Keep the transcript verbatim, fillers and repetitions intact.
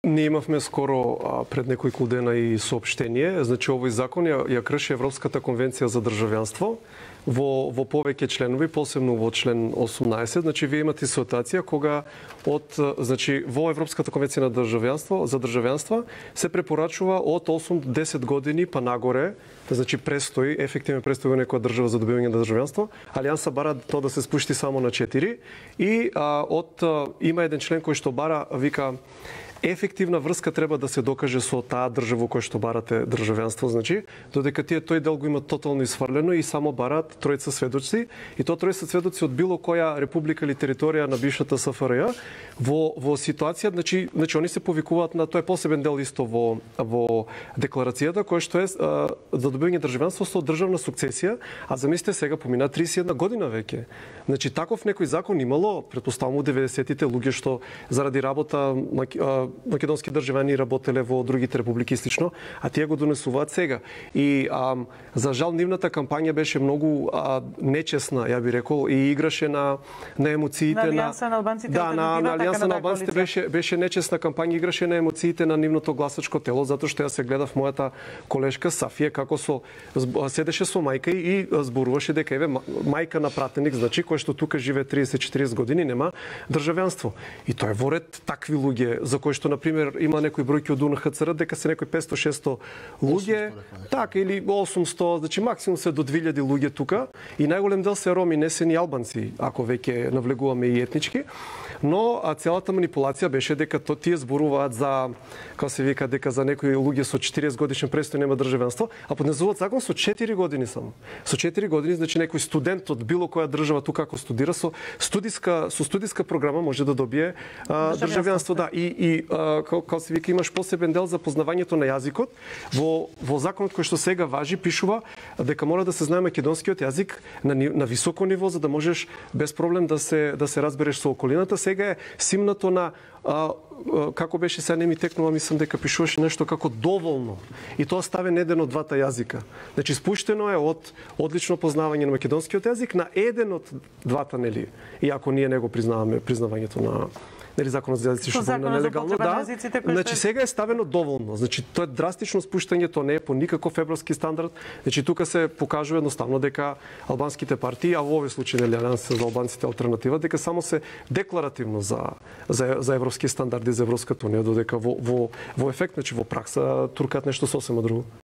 Ние имавме скоро а, пред неколку дена и соопштение, значи овој закон ја, ја крши Европската конвенција за државјанство во во повеќе членови, посебно во член осумнаесет, значи вие имате ситуација кога од значи во Европската конвенција на државјанство за државјанства се препорачува од осум до десет години па нагоре, значи престои, ефективен престои во некоја држава за добивање на државјанство. Алијанса бара тоа да се спушти само на четири и а, од а, има еден член кој што бара, вика, ефективна врска треба да се докаже со таа држава која што барате државјанство, значи, додека тие тој дел го имат тотално исфрлено и само барат тројца сведоци, и тоа тројца сведоци од било која република или територија на бившата СФРЈ во во ситуација, значи, значи они се повикуваат на тоа е посебен дел исто во во декларацијата која што е а, за добивање државјанство со државна сукцесија, а замислете сега помина триесет и една година веќе. Значи таков некој закон имало, претпоставувам, деветдесетите луѓе што заради работа македонски државјани работеле во другите републики и слично, а тие го донесуваат сега. И а, за жал нивната кампања беше многу а, нечесна, ја би рекол, и играше на на емоциите на Алијанса на албанците. Да, на, на Алијанса на албанците беше беше нечесна кампања, играше на емоциите на нивното гласачко тело, затоа што ја се гледав мојата колешка Сафија како со седеше со мајка и зборуваше дека еве мајка на пратеник, значи кој што тука живее триесет до четириесет години нема државјанство. И тоа е воред такви луѓе за кои што на пример има некои бројки од УНХЦР дека се некои петсто шесто луѓе, така или осумсто, значи максимум се до две илјади луѓе тука и најголем дел се роми, не се ни албанци, ако веќе навлегуваме и етнички. Но а целата манипулација беше дека то тие зборуваат за, како се вика, дека за некои луѓе со четириесет годишен престој нема државјанство, а поднесуваат закон со четири години само. Со четири години, значи некој студент од било која држава тука ако студира со студиска со студиска програма може да добие а, државјанство, да. И и како се вика имаш посебен дел за познавањето на јазикот. Во во законот кој што сега важи пишува дека мора да се знае македонскиот јазик на на високо ниво за да можеш без проблем да се да се разбереш со околината. Сега е симнато на а, како беше, сега не ми текнува, мислам дека пишуваше нешто како доволно. И тоа ставен еден од двата јазика. Значи спуштено е од одлично познавање на македонскиот јазик на еден од двата, нели? Иако ние не го признаваме признавањето на нели законот за јазици што помина нелегално, да. Значи сега е ставено доволно. Значи тоа е драстично спуштање, тоа не е по никаков европски стандард. Значи тука се покажува едноставно дека албанските партии, а во овој случај нели Алијанса за албанците алтернатива, дека само се декларативно за за за европски стандарди за Европската унија, додека во во во ефект, значи во пракса туркаат нешто сосема друго.